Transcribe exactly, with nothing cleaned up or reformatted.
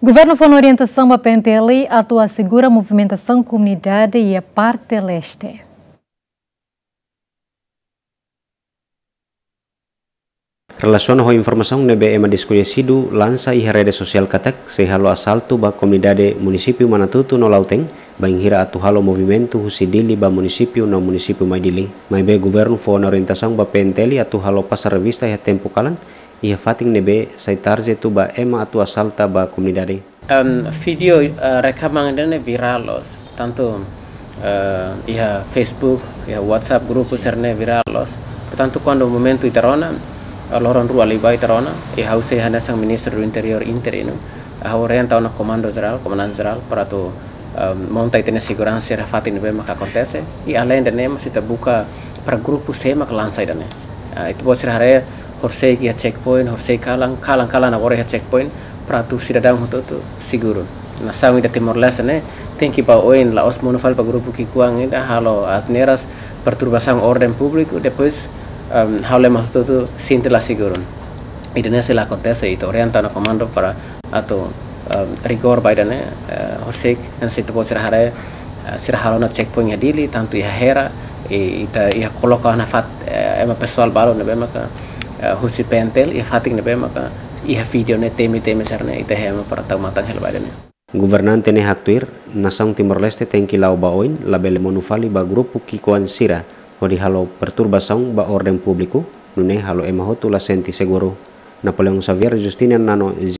Governu fó ona orientasaun ba P N T L atu asegura movimentasaun komunidade iha parte leste. Relasiona ho informasaun ne'ebé ema deskoñesidu lansa iha rede sosiál katak sei halo asaltu ba komunidade munisípiu Manatutu no Lautém, bainhira atu halo movimentu husi Dili ba munisípiu no munisípiu mai Dili. Maibé governu fó ona orientasaun ba P N T L atu halo pasar revista iha tempu kalan, iha fatin ne'ebé sai tarjetu ba ema atu asalta ba komunidade. Em, vídeo, eh, rekaman ida-ne'e virál loos, tantu, eh, iha Facebook, iha WhatsApp grupu sira-ne'e virál loos. Portantu, kuandu momentu ita rona, eh, loron rua liubá ita rona, i ha'u sei hanesan Ministru do Interiór interinu, ha'u orienta ona Komandu Jerál, Komandante Jerál, para atu, em, monta ita-nia seguransa iha fatin ne'ebé maka akontese, i aleinde ne'e mós ita buka para grupu sé maka lansa ida-ne'e. Ah, ita-boot sira haree, horisehik iha checkpoint, horisehik kalan, kalan-kalan agora iha checkpoint, para atu sidadaun hotu-hotu seguru. Nasaun ida Timor-Leste ne'e tenke ba oin, la'ós monu fali ba grupu ki'ikoan ida halo asneiras, perturbasaun orden públiku, depois, em, halo ema hotu-hotu sente la seguru. Ida-ne'e sei la akontese, ita orienta ona komandu para atu, em, rigór ba ida-ne'e, eh, horisehik, hanesan ita-boot sira haree, eh, sira halo ona checkpoint iha Dili, tantu iha Hera, i ita iha koloka ona fat, eh, ema pesoál balu ne'ebé maka, eh, husi P N T L, iha fatin ne'ebé maka, iha vídeo ne'e temi-temi sira-ne'e, ita hemu para tau matan hela ba ida-ne'e. Governante ne'e haktuir, nasaun Timor-Leste tenke la'o ba oin, labele monu fali ba grupu ki'ikoan sira, hodi halo perturbasaun ba orden públiku, nune'e halo ema hotu la sente seguru. Napoleão Xavier, Justina Nano,